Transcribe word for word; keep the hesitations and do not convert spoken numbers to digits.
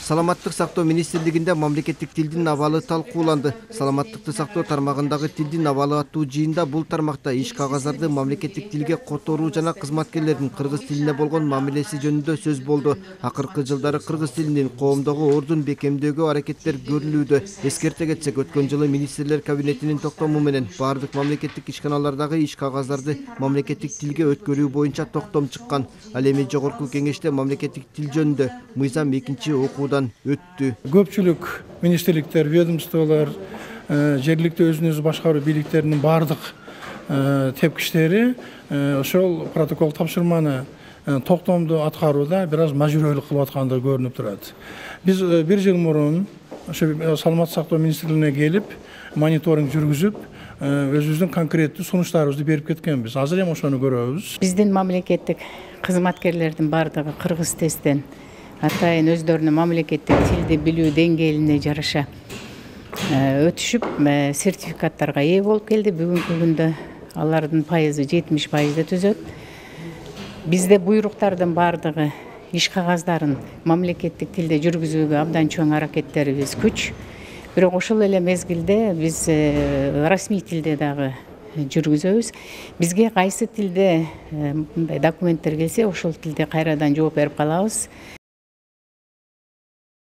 Саламаттык сактоо министрлигинде мамлекеттик тилдин абалы талкууланды. Саламаттыкты сактоо тармагындагы тилдин абалы аттуу жыйында бул тармакта иш кагаздарды мамлекеттик тилге которуу жана кызматкерлердин кыргыз тилине болгон мамилеси жөнүндө сөз болду. Акыркы жылдары кыргыз тилинин коомдогу ордун бекемдөөгө аракеттер көрүлүүдө. Эскерте кетсек, өткөн жылы министрлер кабинетинин токтому менен бардык мамлекеттик ишканалардагы иш кагаздарды мамлекеттик тилге өткөрүү боюнча токтом чыккан. Ал эми жогорку кеңеште мамлекеттик тил жөнүндө мыйзам экинчи окуудан өттү. Көпчүлүк министрликтер, ведомстволор, жергиликтүү өзүн өзү башкаруу бийликтеринин бардык тепкичтери ошол протокол тапшырманы токтомду аткарууда бир аз мажбүрөөлүк кылып аткандыгы көрүнүп турат. Биз бир жыл мурун ошо саламаттык сактоо министрлигине келип, мониторинг жүргүзүп, өзүбүздүн конкреттүү сунуштарыбызды берип кеткенбиз. Азыр эми ошону көрөбүз. Биздин мамлекеттик кызматкерлердин бардыгы кыргыз тесттен атайын өздөрүнүн мамлекеттик тилди билүү деңгээлине жараша өтүшүп, сертификаттарга ээ болуп келди. Бүгүнкү күндө алардын пайызы жетимиш пайызды түзөт. Бизде буйруктардын бардыгы иш кагаздарын мамлекеттик тилде жүргүзүүгө абдан чоң аракеттерибиз күч. Бирок ошол эле мезгилде биз расмий тилде дагы жүргүзөбүз. Бизге кайсы тилде мындай документтер келсе, ошол тилде кайрадан жооп берип калабыз.